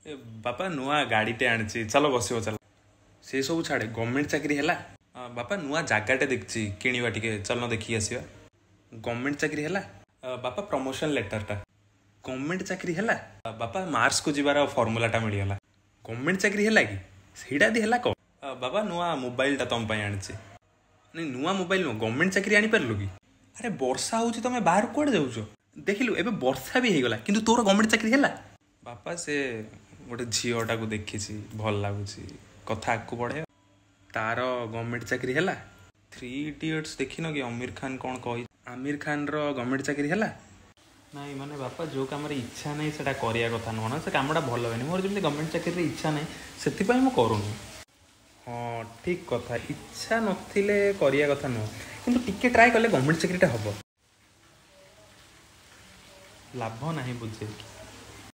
ଏ ବାପା, ନୂଆ ଗାଡ଼ିଟେ ଆଣିଛି, ଚାଲ ବସିବ ଚାଲ। ସେ ସବୁ ଛାଡ଼େ, ଗଭର୍ଣ୍ଣମେଣ୍ଟ ଚାକିରି ହେଲା? ବାପା, ନୂଆ ଜାଗାଟେ ଦେଖିଛି, କିଣିବା ଟିକେ, ଚାଲୁନ ଦେଖିକି ଆସିବା। ଗଭର୍ଣ୍ଣମେଣ୍ଟ ଚାକିରି ହେଲା? ବାପା, ପ୍ରମୋସନ୍ ଲେଟରଟା। ଗଭର୍ଣ୍ଣମେଣ୍ଟ ଚାକିରି ହେଲା? ବାପା, ମାର୍ସକୁ ଯିବାର ଫର୍ମୁଲାଟା ମିଳିଗଲା। ଗଭର୍ଣ୍ଣମେଣ୍ଟ ଚାକିରି ହେଲା କି? ସେଇଟା ଯଦି ହେଲା କହ। ବାବା, ନୂଆ ମୋବାଇଲଟା ତମ ପାଇଁ ଆଣିଛି। ନାଇଁ, ନୂଆ ମୋବାଇଲ ନୁହଁ, ଗଭର୍ଣ୍ଣମେଣ୍ଟ ଚାକିରି ଆଣିପାରିଲୁ କି? ଆରେ ବର୍ଷା ହେଉଛି, ତମେ ବାହାରକୁ କୁଆଡ଼େ ଯାଉଛ? ଦେଖିଲୁ, ଏବେ ବର୍ଷା ବି ହେଇଗଲା, କିନ୍ତୁ ତୋର ଗଭର୍ଣ୍ଣମେଣ୍ଟ ଚାକିରି ହେଲା? ବାପା, ସେ ଗୋଟେ ଝିଅଟାକୁ ଦେଖିଛି, ଭଲ ଲାଗୁଛି, କଥା ଆଗକୁ ବଢ଼େଇବା। ତାର ଗଭର୍ଣ୍ଣମେଣ୍ଟ ଚାକିରି ହେଲା? ଥ୍ରୀ ଇଡ଼ିୟଟ୍ସ ଦେଖିନ କି, ଅମିର ଖାନ କ'ଣ କହି? ଆମିର ଖାନର ଗଭର୍ଣ୍ଣମେଣ୍ଟ ଚାକିରି ହେଲା? ନାଇଁ, ମାନେ ବାପା, ଯେଉଁ କାମରେ ଇଚ୍ଛା ନାହିଁ ସେଇଟା କରିବା କଥା ନୁହଁ ନା, ସେ କାମଟା ଭଲ ହୁଏନି। ମୋର ଯେମିତି ଗଭର୍ଣ୍ଣମେଣ୍ଟ ଚାକିରିରେ ଇଚ୍ଛା ନାହିଁ, ସେଥିପାଇଁ ମୁଁ କରୁନି। ହଁ, ଠିକ୍ କଥା, ଇଚ୍ଛା ନଥିଲେ କରିବା କଥା ନୁହଁ, କିନ୍ତୁ ଟିକେ ଟ୍ରାଏ କଲେ ଗଭର୍ଣ୍ଣମେଣ୍ଟ ଚାକିରିଟା ହେବ। ଲାଭ ନାହିଁ ବୁଝେଇକି।